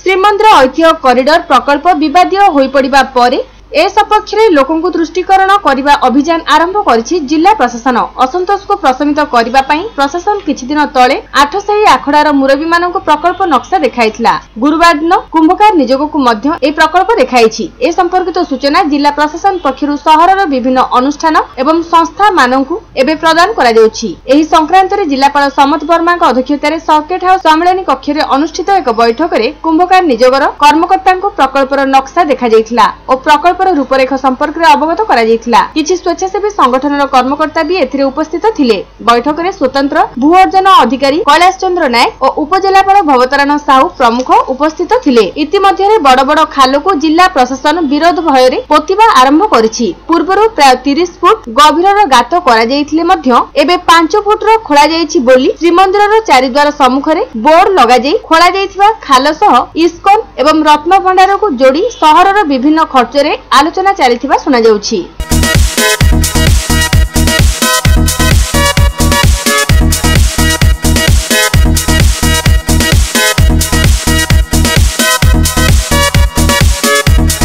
ଶ୍ରୀମନ୍ଦିର ଐତିହ୍ୟ କରିଡର ପ୍ରକଳ୍ପ ବିବାଦୀୟ ହୋଇପଡ଼ିବା ପରେ ଏ ସପକ୍ଷରେ ଲୋକଙ୍କୁ ଦୃଷ୍ଟିକରଣ କରିବା ଅଭିଯାନ ଆରମ୍ଭ କରିଛି ଜିଲ୍ଲା ପ୍ରଶାସନ। ଅସନ୍ତୋଷକୁ ପ୍ରଶମିତ କରିବା ପାଇଁ ପ୍ରଶାସନ କିଛିଦିନ ତଳେ ଆଠସାହି ଆଖଡ଼ାର ମୁରବୀମାନଙ୍କୁ ପ୍ରକଳ୍ପ ନକ୍ସା ଦେଖାଇଥିଲା। ଗୁରୁବାର ଦିନ କୁମ୍ଭକାର ନିଯୋଗକୁ ମଧ୍ୟ ଏହି ପ୍ରକଳ୍ପ ଦେଖାଇଛି। ଏ ସମ୍ପର୍କିତ ସୂଚନା ଜିଲ୍ଲା ପ୍ରଶାସନ ପକ୍ଷରୁ ସହରର ବିଭିନ୍ନ ଅନୁଷ୍ଠାନ ଏବଂ ସଂସ୍ଥାମାନଙ୍କୁ ଏବେ ପ୍ରଦାନ କରାଯାଉଛି। ଏହି ସଂକ୍ରାନ୍ତରେ ଜିଲ୍ଲାପାଳ ସମତ ବର୍ମାଙ୍କ ଅଧ୍ୟକ୍ଷତାରେ ସର୍କିଟ ହାଉସ ସମ୍ମିଳନୀ କକ୍ଷରେ ଅନୁଷ୍ଠିତ ଏକ ବୈଠକରେ କୁମ୍ଭକାର ନିଯୋଗର କର୍ମକର୍ତ୍ତାଙ୍କୁ ପ୍ରକଳ୍ପର ନକ୍ସା ଦେଖାଯାଇଥିଲା ଓ ପ୍ରକଳ୍ପର ରୂପରେଖ ସମ୍ପର୍କରେ ଅବଗତ କରାଯାଇଥିଲା। କିଛି ସ୍ୱେଚ୍ଛାସେବୀ ସଂଗଠନର କର୍ମକର୍ତ୍ତା ବି ଏଥିରେ ଉପସ୍ଥିତ ଥିଲେ। ବୈଠକରେ ସ୍ୱତନ୍ତ୍ର ଭୂ ଅର୍ଜନ ଅଧିକାରୀ କୈଳାସ ଚନ୍ଦ୍ର ନାୟକ ଓ ଉପଜିଲ୍ଲାପାଳ ଭବତାରଣ ସାହୁ ପ୍ରମୁଖ ଉପସ୍ଥିତ ଥିଲେ। ଇତିମଧ୍ୟରେ ବଡ଼ ବଡ଼ ଖାଲକୁ ଜିଲ୍ଲା ପ୍ରଶାସନ ବିରୋଧ ଭୟରେ ପୋତିବା ଆରମ୍ଭ କରିଛି। ପୂର୍ବରୁ ପ୍ରାୟ 30 ଫୁଟ ଗଭୀରର ଗାତ କରାଯାଇଥିଲେ ମଧ୍ୟ ଏବେ 5 ଫୁଟର ଖୋଳାଯାଇଛି ବୋଲି ଶ୍ରୀମନ୍ଦିରର ଚାରିଦ୍ୱାର ସମ୍ମୁଖରେ ବୋର୍ଡ ଲଗାଯାଇ ଖୋଳାଯାଇଥିବା ଖାଲ ସହ ଇସ୍କନ ଏବଂ ରତ୍ନଭଣ୍ଡାରକୁ ଯୋଡ଼ି ସହରର ବିଭିନ୍ନ ଖର୍ଚ୍ଚରେ ଆଲୋଚନା ଚାଲିଥିବା ଶୁଣାଯାଉଛି।